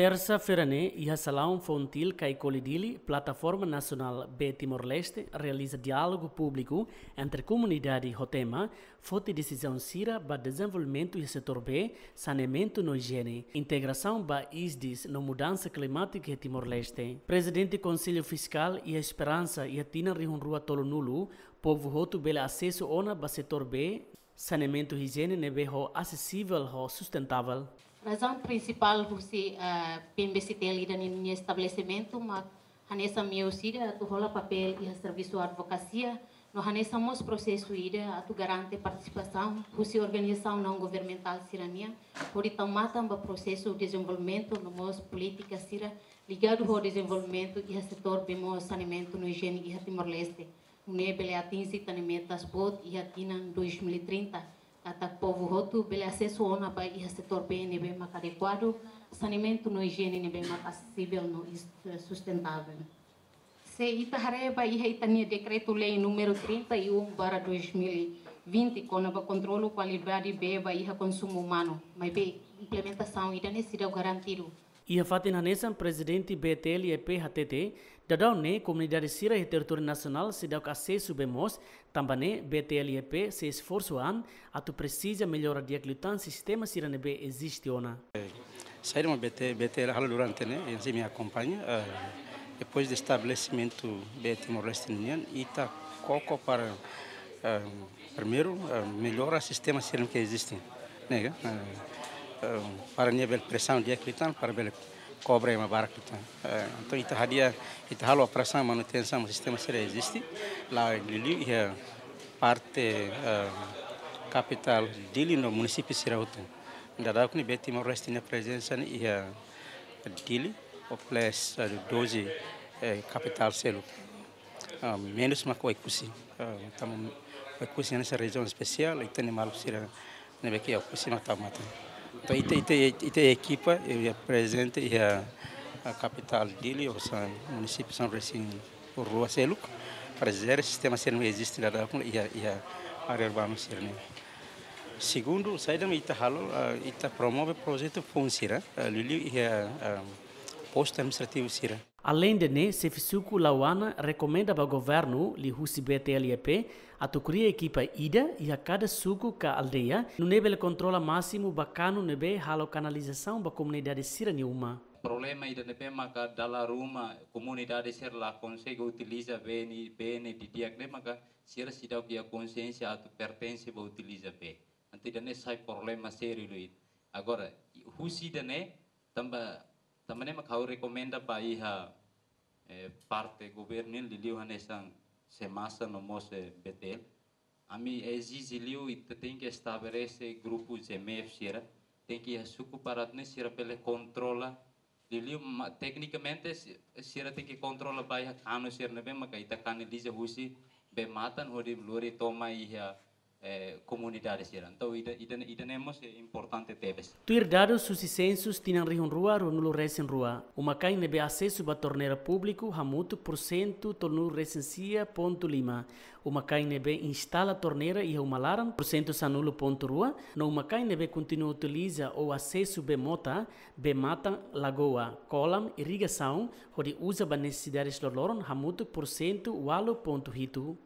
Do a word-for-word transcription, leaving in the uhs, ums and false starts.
Tersa-feira ne'e, iha Salaun Fontil, Kaikoli, Dili, Plataforma Nasionál Bee Timor-Leste realiza diálogu públiku entre komunidade ho tema Foti desizaun sira ba dezenvolvimentu iha setór bee, saneamentu no ijiene, integrasaun ba ISDIS no mudansa klimátika iha Timor-Leste. Prezidente Konsellu Fiskál iha esperansa iha tinan rihun rua tolunulu, povu hotu bele asesu ona ba setór bee, saneamentu, ijiene ne'ebé ho asesivel ho sustentável. Razaun prinsipál husi, eh, PMBCTL ida-ne'e nia estabelesimentu mak hanesan meiu sira atu hola papél iha servisu advokasia, no hanesan mós prosesu ida atu garante partisipasaun husi organizasaun naun-governamentál sira-nian, hodi tau matan ba prosesu dezenvolvimentu no mós polítika sira ligadu ho dezenvolvimentu iha setór bee moos, saneamentu no ijiene iha Timor-Leste. Nune'e bele atinje tan ne'e metas boot iha tinan dois mil e trinta, katak povu hotu bele asesu ona ba iha setór bee ne'ebé maka adekuadu, saneamentu no ijiene ne'ebé maka asesivel no is-, sustentável. Se ita haree ba iha ita-nia Dekretu-Lei númeru trinta e um barra dois mil e vinte, kona-ba kontrolu kualidade bee ba iha konsumu umanu, maibé implementasaun ida-ne'e seidauk garantidu. Iha fatin hanesan, Prezidente BTL-YP hatete, daudaun ne'e komunidade sira iha territóriu nasionál seidauk asesu bee moos, tanba ne'e BTL-YP sei esforsu an atu presiza mellora di'ak liután sistema sira ne'ebé eziste ona. Saida mak BT, BTL halo durante ne'e, ita sei akompaña, eh, depois de estabelesimentu Bee Timor-Leste nian, ita koko para, eh, primeiru, eh, mellora sistema sira ne'ebé eziste, ne'e ka? Eh, eh, para nia bele presaun di'ak liután, para bele kobre ema barak liután. Eh, entaun ita hadi'a, ita halo operasaun manutensaun sistema sira eziste, la liuliu iha parte, eh, kapitál Dili no munisípiu sira hotu. Daudauk ne'e Bee Timor-Leste nia prezensa ne'e iha Dili, ho plus, eh, doze, eh, kapitál seluk. Ah, menus mak Oekusi. Ah, tanba Oekusi hanesan rejiaun espesiál, ita-nia maluk sira ne'ebé ke Oekusi mak tau matan. Entaun ita, ita, ita ekipa, eh, prezente iha, ah, kapitál Dili, ho San, munisípiu sanulu-resin-rua seluk, para jere sistema sira ne'ebé eziste daudauk iha, iha área urbanu sira-ne'e. Segundu, saida mak ita halo, ah, ita promove projetu foun sira, ah, liuliu iha, ah, postu administrativu sira. Aleinde ne'e, xefe suku Lauana rekomenda ba governu liuhusi BTL-YP atu kria ekipa ida iha kada suku ka aldeia, nune'e bele kontrola másimu ba kanu ne'ebé halo kanalizasaun ba komunidade sira-nia uma. Problema ida ne'ebé maka dala ruma komunidade sira la konsege utiliza bee ne'e, bee ne'e didi'ak ne'e maka sira seidauk iha konsiénsia atu pertense ba utiliza bee. Entaun ida-ne'e sai problema sériu liu. Agora, husi ida-ne'e, tanba, tanba ne'e mak ha'u rekomenda ba iha, eh, parte governu nian liuliu hanesan SEMASA no mós, eh, BTL. Ami ezije liu ita tenke estabelese grupu GMF sira, tenke iha suku para atu nune'e sira bele kontrola, liuliu ma-, teknikamente si-, sira tenke kontrola ba iha kanu sira ne'ebé maka ita kanaliza husi bee-matan hodi lori to'o mai iha, eh, komunidade sira. Entaun ida, ida, ida-ne'e mós, eh, importante tebes. Tuir dadus husi sensus tinan rihun rua ruanulu-resin-rua, uma-kain ne'ebé asesu ba torneira públiku hamutuk pursentu tolunulu-resin-sia pontu lima, uma-kain ne'ebé instala torneira iha uma laran pursentu sanulu pontu rua, no uma-kain ne'ebé kontinua utiliza ou asesu bee mota, bee-matan, lagoa, kolam, irrigasaun, hodi uza ba nesesidades loroloron hamutuk pursentu ualu pontu hitu.